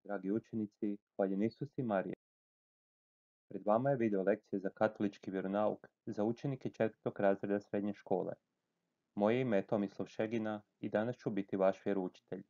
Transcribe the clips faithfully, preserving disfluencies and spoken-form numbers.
Dragi učenici, hvaljen Isus i Marija. Pred vama je video lekcija za katolički vjeronauk za učenike četvrtog razreda srednje škole. Moje ime je Tomislav Šegina i danas ću biti vaš vjeroučitelj.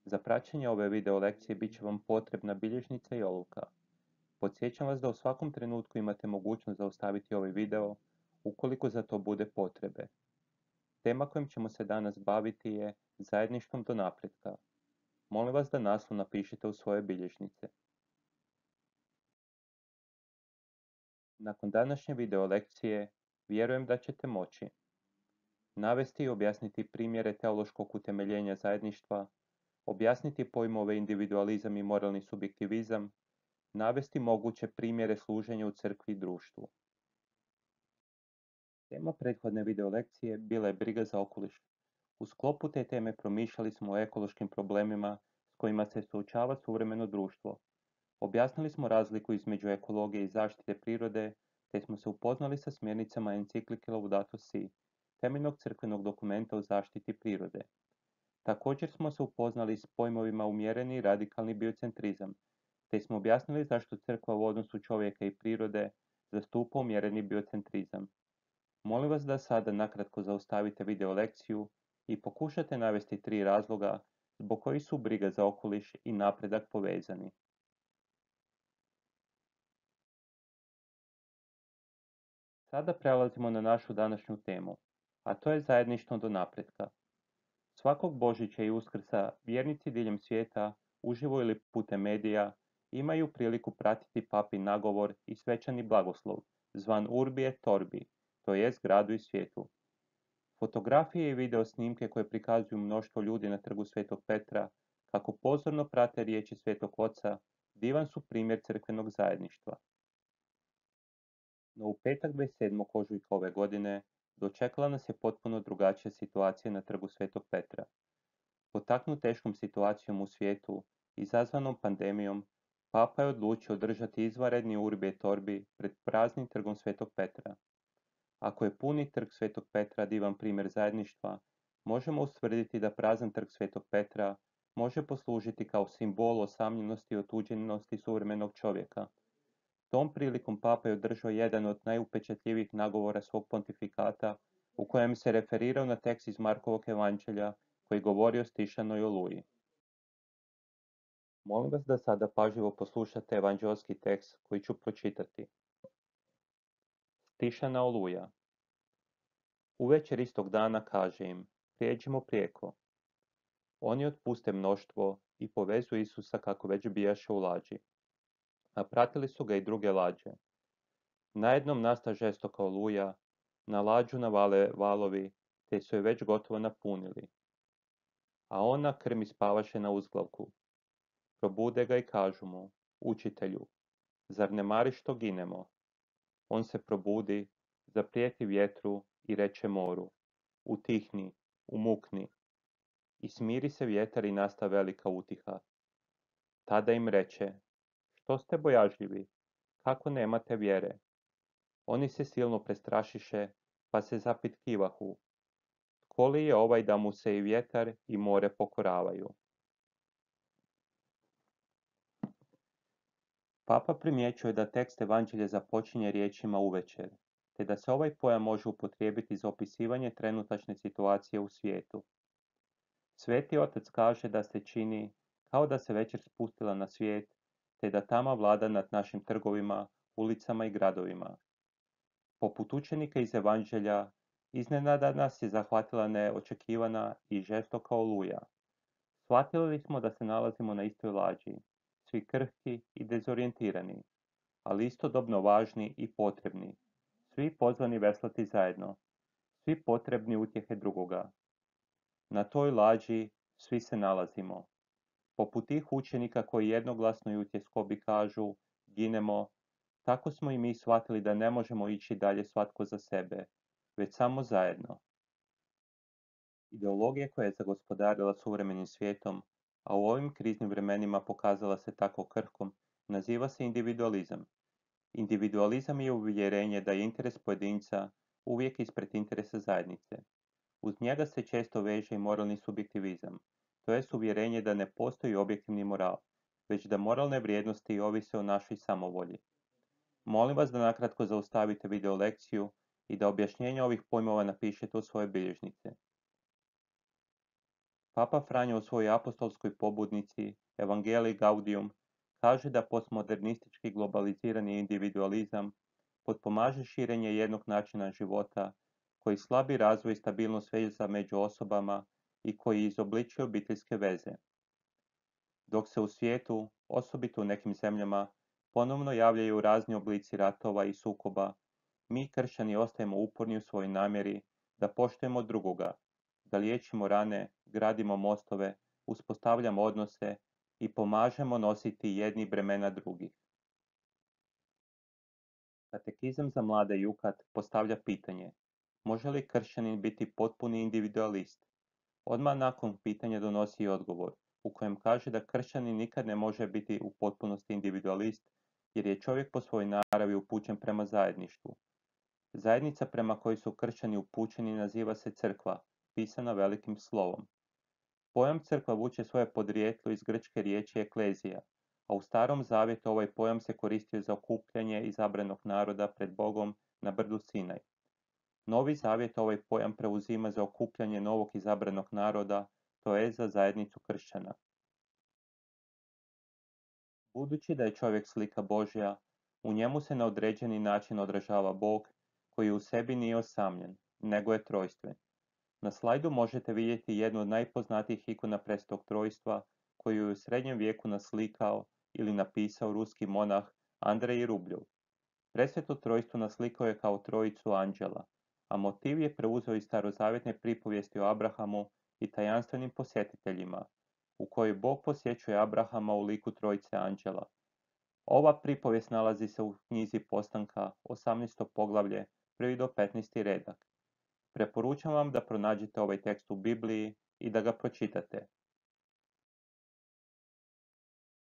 Za praćenje ove video lekcije bit će vam potrebna bilježnica i olovka. Podsjećam vas da u svakom trenutku imate mogućnost zaustaviti ovaj video ukoliko za to bude potrebe. Tema kojom ćemo se danas baviti je zajedništvom do napretka. Molim vas da naslov napišite u svoje bilježnice. Nakon današnje video lekcije, vjerujem da ćete moći navesti i objasniti primjere teološkog utemeljenja zajedništva, objasniti pojmove individualizam i moralni subjektivizam, navesti moguće primjere služenja u crkvi i društvu. Tema prethodne video lekcije bila je briga za okoliš. U sklopu te teme promišljali smo o ekološkim problemima s kojima se suočava suvremeno društvo. Objasnili smo razliku između ekologije i zaštite prirode, te smo se upoznali sa smjernicama enciklike Laudato Si, temeljnog crkvenog dokumenta o zaštiti prirode. Također smo se upoznali s pojmovima umjereni i radikalni biocentrizam, te smo objasnili zašto crkva u odnosu čovjeka i prirode zastupa umjereni biocentrizam. Molim vas da sada nakratko zaustavite video lekciju i pokušate navesti tri razloga zbog kojih su briga za okoliš i napredak povezani. Sada prelazimo na našu današnju temu, a to je zajedništvo do napretka. Svakog Božića i Uskrsa vjernici diljem svijeta, uživo ili putem medija, imaju priliku pratiti papin nagovor i svečani blagoslov, zvan Urbi et Orbi, to jest gradu i svijetu. Fotografije i video snimke koje prikazuju mnoštvo ljudi na trgu Svetog Petra, kako pozorno prate riječi Svetog Oca, divan su primjer crkvenog zajedništva. No u petak dvadeset sedmog ožujka ove godine dočekala nas je potpuno drugačija situacija na trgu Svetog Petra. Potaknut teškom situacijom u svijetu, izazvanom pandemijom, Papa je odlučio održati izvanredni Urbi et Orbi pred praznim trgom Svetog Petra. Ako je puni trg Svetog Petra divan primjer zajedništva, možemo ustvrditi da prazan trg Svetog Petra može poslužiti kao simbol osamljenosti i otuđenosti suvremenog čovjeka. Tom prilikom Papa je održao jedan od najupečatljivijih nagovora svog pontifikata, u kojem se referirao na tekst iz Markovog evanđelja koji govori o stišanoj oluji. Molim vas da sada pažljivo poslušate evanđelski tekst koji ću pročitati. Stišana oluja. Uvečer istog dana kaže im, prijeđimo prijeko. Oni otpuste mnoštvo i povezu Isusa kako već bijaše u lađi. A pratili su ga i druge lađe. Najednom nasta žestoka oluja, na lađu navale valovi, te su je već gotovo napunili. A ona krmi spavaše na uzglavku. Probude ga i kažu mu, učitelju, zar ne mariš što ginemo? On se probudi, zaprijeti vjetru i reče moru, utihni, umukni. I smiri se vjetar i nasta velika utiha. Tada im reče, što ste bojažljivi, kako nemate vjere? Oni se silno prestrašiše, pa se zapitkivahu. Tko li je ovaj da mu se i vjetar i more pokoravaju? Papa primjećuje da tekst evanđelja započinje riječima uvečer, te da se ovaj pojam može upotrijebiti za opisivanje trenutačne situacije u svijetu. Sveti Otac kaže da se čini kao da se večer spustila na svijet, te da tama vlada nad našim trgovima, ulicama i gradovima. Poput učenika iz evanđelja, iznenada nas je zahvatila neočekivana i žestoka oluja. Shvatili smo da se nalazimo na istoj lađi, svi krhki i dezorijentirani, ali istodobno važni i potrebni, svi pozvani veslati zajedno, svi potrebni utjehe drugoga. Na toj lađi svi se nalazimo. Poput tih učenika koji jednoglasno i utjeskobi kažu, ginemo, tako smo i mi shvatili da ne možemo ići dalje svatko za sebe, već samo zajedno. Ideologija koja je zagospodarila suvremenim svijetom, a u ovim kriznim vremenima pokazala se tako krhkom, naziva se individualizam. Individualizam je uvjerenje da je interes pojedinca uvijek ispred interesa zajednice. Uz njega se često veže i moralni subjektivizam, to jest uvjerenje da ne postoji objektivni moral, već da moralne vrijednosti ovise o našoj samovolji. Molim vas da nakratko zaustavite video lekciju i da objašnjenje ovih pojmova napišete u svoje bilježnice. Papa Franjo u svojoj apostolskoj pobudnici Evangelii Gaudium kaže da postmodernistički globalizirani individualizam potpomaže širenje jednog načina života koji slabi razvoj i stabilnost veza među osobama i koji izobličuje obiteljske veze. Dok se u svijetu, osobito u nekim zemljama, ponovno javljaju razni oblici ratova i sukoba, mi kršćani ostajemo uporni u svojoj namjeri da poštujemo drugoga, da liječimo rane, gradimo mostove, uspostavljamo odnose i pomažemo nositi jedni bremena drugih. Katekizam za mlade Jukat postavlja pitanje: može li kršćanin biti potpuni individualist? Odmah nakon pitanja donosi i odgovor, u kojem kaže da kršćanin nikad ne može biti u potpunosti individualist, jer je čovjek po svojoj naravi upućen prema zajedništvu. Zajednica prema kojoj su kršćani upućeni naziva se crkva, pisana velikim slovom. Pojam crkva vuče svoje podrijetlo iz grčke riječi eklezija, a u Starom zavjetu ovaj pojam se koristio za okupljanje izabranog naroda pred Bogom na brdu Sinaj. Novi zavjet ovaj pojam preuzima za okupljanje novog izabranog naroda, to je za zajednicu kršćana. Budući da je čovjek slika Božja, u njemu se na određeni način odražava Bog, koji u sebi nije osamljen, nego je trojstven. Na slajdu možete vidjeti jednu od najpoznatijih ikona Presvetog trojstva, koju je u srednjem vijeku naslikao ili napisao ruski monah Andrej Rubljov. Presveto trojstvo naslikao je kao trojicu anđela, a motiv je preuzeo iz starozavjetne pripovijesti o Abrahamu i tajanstvenim posjetiteljima, u kojoj Bog posjećuje Abrahama u liku trojice anđela. Ova pripovijest nalazi se u knjizi Postanka, osamnaesto poglavlje, prvi do petnaesti redak. Preporučam vam da pronađete ovaj tekst u Bibliji i da ga pročitate.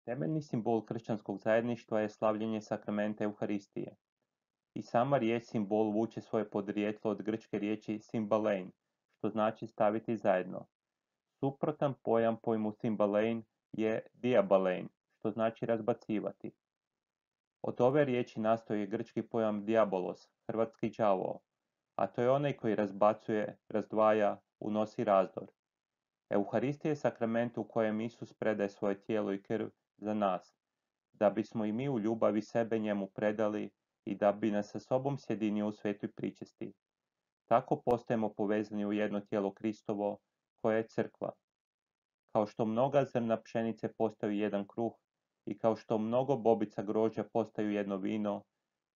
Temeljni simbol kršćanskog zajedništva je slavljenje sakramenta Euharistije. I sama riječ simbol vuče svoje podrijetlo od grčke riječi symbalein, što znači staviti zajedno. Suprotan pojam pojmu symbalein je diabalein, što znači razbacivati. Od ove riječi nastoji grčki pojam diabolos, hrvatski đavao, a to je onaj koji razbacuje, razdvaja, unosi razdor. Euharistija je sakrament u kojem Isus predaje svoje tijelo i krv za nas, da bismo i mi u ljubavi sebe njemu predali i da bi nas sa sobom sjedinio u svetoj pričesti. Tako postajemo povezani u jedno tijelo Kristovo, koje je crkva. Kao što mnoga zrna pšenice postaju jedan kruh i kao što mnogo bobica grožđa postaju jedno vino,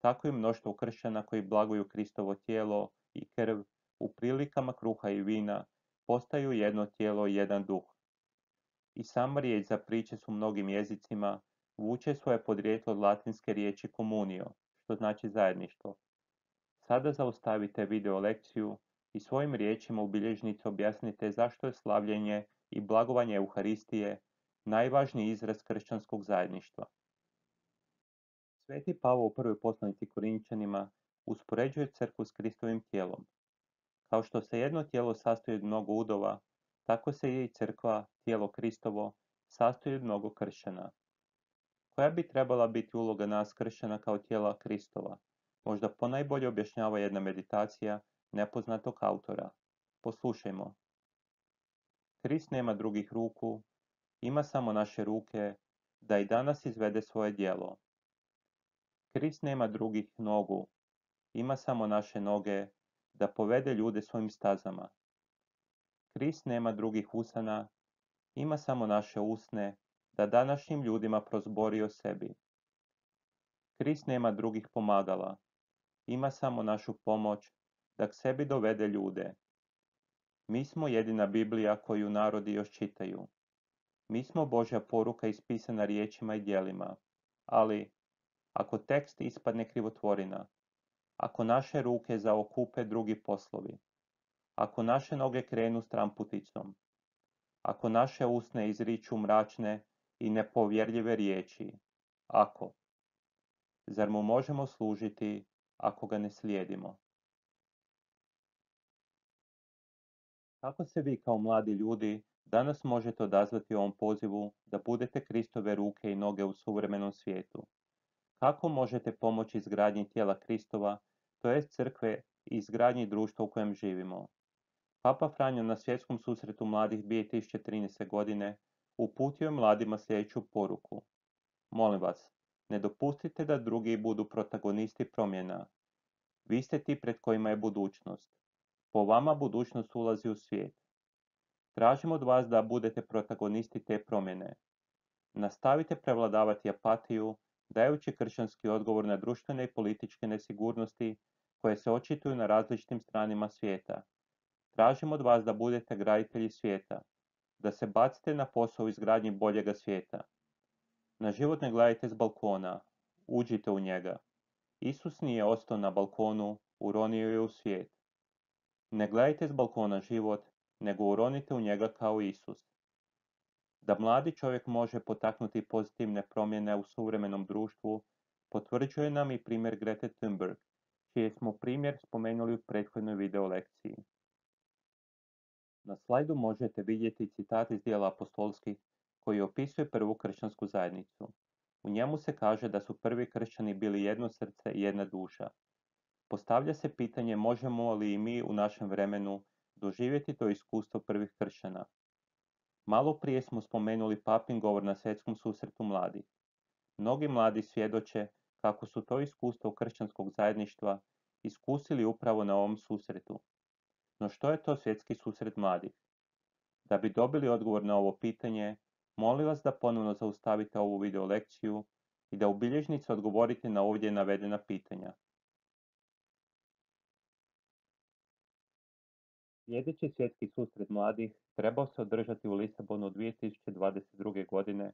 tako i mnoštvo kršćana koji blaguju Kristovo tijelo i krv u prilikama kruha i vina postaju jedno tijelo i jedan duh. I sama riječ za priče su mnogim jezicima vuče svoje podrijetlo od latinske riječi communio, što znači zajedništvo. Sada zaustavite video lekciju i svojim riječima u bilježnici objasnite zašto je slavljenje i blagovanje Euharistije najvažniji izraz kršćanskog zajedništva. Sveti Pavao u prvoj poslanici Korinčanima uspoređuje crkvu s Kristovim tijelom. Kao što se jedno tijelo sastoji od mnogo udova, tako se i crkva, tijelo Kristovo, sastoji od mnogo kršćana. Koja bi trebala biti uloga nas kršćana kao tijela Kristova? Možda ponajbolje objašnjava jedna meditacija nepoznatog autora. Poslušajmo. Krist nema drugih ruku, ima samo naše ruke, da i danas izvede svoje djelo. Krist nema drugih nogu, ima samo naše noge, da povede ljude svojim stazama. Krist nema drugih usana, ima samo naše usne, da današnjim ljudima prozbori o sebi. Krist nema drugih pomagala, ima samo našu pomoć, da k sebi dovede ljude. Mi smo jedina Biblija koju narodi još čitaju. Mi smo Božja poruka ispisana riječima i djelima, ali ako tekst ispadne krivotvorina, ako naše ruke zaokupe drugi poslovi, ako naše noge krenu stramputicom, ako naše usne izriču mračne i nepovjerljive riječi, ako, zar mu možemo služiti ako ga ne slijedimo? Kako se vi kao mladi ljudi Danas možete odazvati ovom pozivu da budete Kristove ruke i noge u suvremenom svijetu. Kako možete pomoći izgradnji tijela Kristova, to jest crkve i izgradnji društva u kojem živimo? Papa Franjo na svjetskom susretu mladih dvije tisuće trinaeste. godine uputio je mladima sljedeću poruku. Molim vas, ne dopustite da drugi budu protagonisti promjena. Vi ste ti pred kojima je budućnost. Po vama budućnost ulazi u svijet. Tražim od vas da budete protagonisti te promjene. Nastavite prevladavati apatiju, dajući kršćanski odgovor na društvene i političke nesigurnosti koje se očituju na različitim stranima svijeta. Tražim od vas da budete graditelji svijeta, da se bacite na posao u izgradnji boljega svijeta. Na život ne gledajte s balkona, uđite u njega. Isus nije ostao na balkonu, uronio je u svijet. Ne gledajte s balkona život, nego uronite u njega kao Isus. Da mladi čovjek može potaknuti pozitivne promjene u suvremenom društvu, potvrđuje nam i primjer Grete Thunberg, čiji smo primjer spomenuli u prethodnoj video lekciji. Na slajdu možete vidjeti citat iz dijela apostolskih koji opisuje prvu kršćansku zajednicu. U njemu se kaže da su prvi kršćani bili jedno srce i jedna duša. Postavlja se pitanje možemo li i mi u našem vremenu doživjeti to iskustvo prvih kršćana. Malo prije smo spomenuli papin govor na svjetskom susretu mladih. Mnogi mladi svjedoče kako su to iskustvo kršćanskog zajedništva iskusili upravo na ovom susretu. No što je to svjetski susret mladih? Da bi dobili odgovor na ovo pitanje, molim vas da ponovno zaustavite ovu video lekciju i da u bilježnici odgovorite na ovdje navedena pitanja. Sljedeći svjetski susret mladih trebao se održati u Lisabonu dvije tisuće dvadeset druge. godine,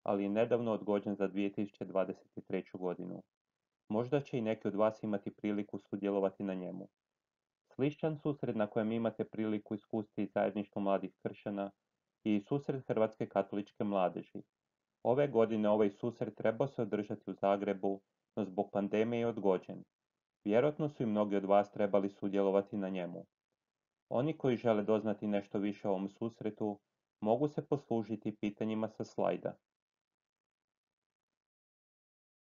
ali je nedavno odgođen za dvije tisuće dvadeset treću. godinu. Možda će i neki od vas imati priliku sudjelovati na njemu. Sličan susret na kojem imate priliku iskusiti zajedništvo mladih kršćana je i susret Hrvatske katoličke mladeži. Ove godine ovaj susret trebao se održati u Zagrebu, no zbog pandemije je odgođen. Vjerojatno su i mnogi od vas trebali sudjelovati na njemu. Oni koji žele doznati nešto više o ovom susretu mogu se poslužiti pitanjima sa slajda.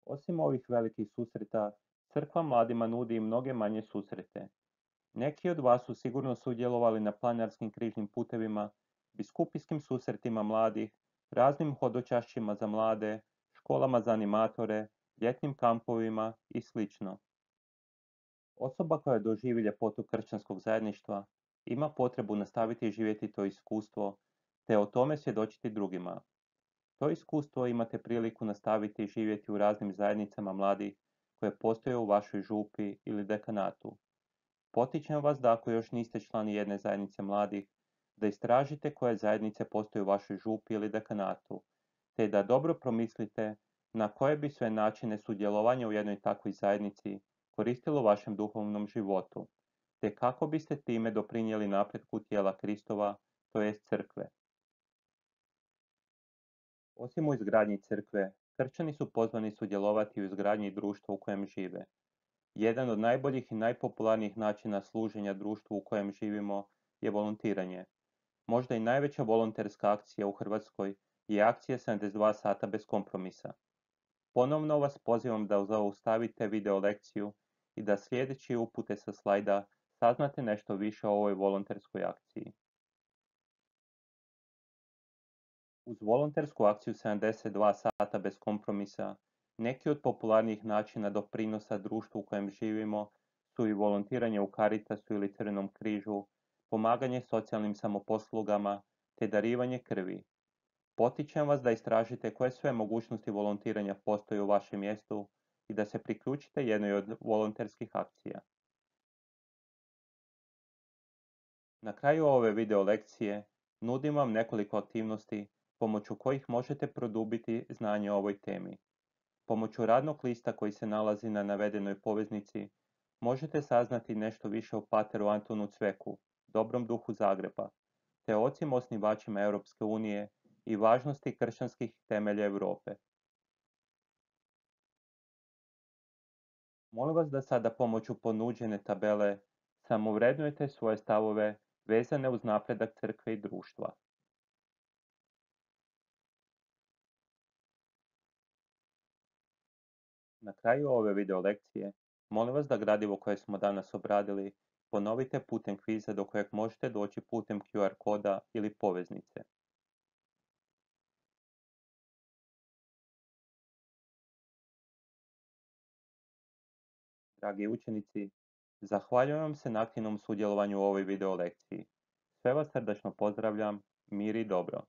Osim ovih velikih susreta, crkva mladima nudi i mnoge manje susrete. Neki od vas su sigurno sudjelovali na planinarskim križnim putevima, biskupijskim susretima mladih, raznim hodočašćima za mlade, školama za animatore, ljetnim kampovima i sl. Osoba koja doživi ljepotu kršćanskog zajedništva ima potrebu nastaviti živjeti to iskustvo, te o tome svjedočiti drugima. To iskustvo imate priliku nastaviti živjeti u raznim zajednicama mladih koje postoje u vašoj župi ili dekanatu. Potičem vas da ako još niste člani jedne zajednice mladih, da istražite koje zajednice postoje u vašoj župi ili dekanatu, te da dobro promislite na koje bi sve načine sudjelovanja u jednoj takvoj zajednici koristilo vašem duhovnom životu, te kako biste time doprinijeli napretku tijela Kristova, to jest crkve. Osim u izgradnji crkve, kršćani su pozvani sudjelovati u izgradnji društva u kojem žive. Jedan od najboljih i najpopularnijih načina služenja društvu u kojem živimo je volontiranje. Možda i najveća volonterska akcija u Hrvatskoj je akcija sedamdeset dva sata bez kompromisa. Ponovno vas pozivam da zaustavite video lekciju i da sljedeći upute sa slajda saznate nešto više o ovoj volonterskoj akciji. Uz volontersku akciju sedamdeset dva sata bez kompromisa, neki od popularnijih načina doprinosa društvu u kojem živimo su i volontiranje u Caritasu ili Crvenom križu, pomaganje socijalnim samoposlugama te darivanje krvi. Potičem vas da istražite koje sve mogućnosti volontiranja postoje u vašem mjestu i da se priključite jednoj od volonterskih akcija. Na kraju ove video lekcije nudim vam nekoliko aktivnosti pomoću kojih možete produbiti znanje o ovoj temi. Pomoću radnog lista koji se nalazi na navedenoj poveznici možete saznati nešto više o pateru Antonu Cveku, dobrom duhu Zagreba, te ocima osnivačima Europske unije i važnosti kršćanskih temelja Europe. Molim vas da sada pomoću ponuđene tabele samovrednujete svoje stavove vezane uz napredak crkve i društva. Na kraju ove video lekcije molim vas da gradivo koje smo danas obradili ponovite putem kviza do kojeg možete doći putem Q R koda ili poveznice. Dragi učenici, zahvaljujem vam se na aktivnom sudjelovanju u ovoj video lekciji. Sve vas srdačno pozdravljam, mir i dobro.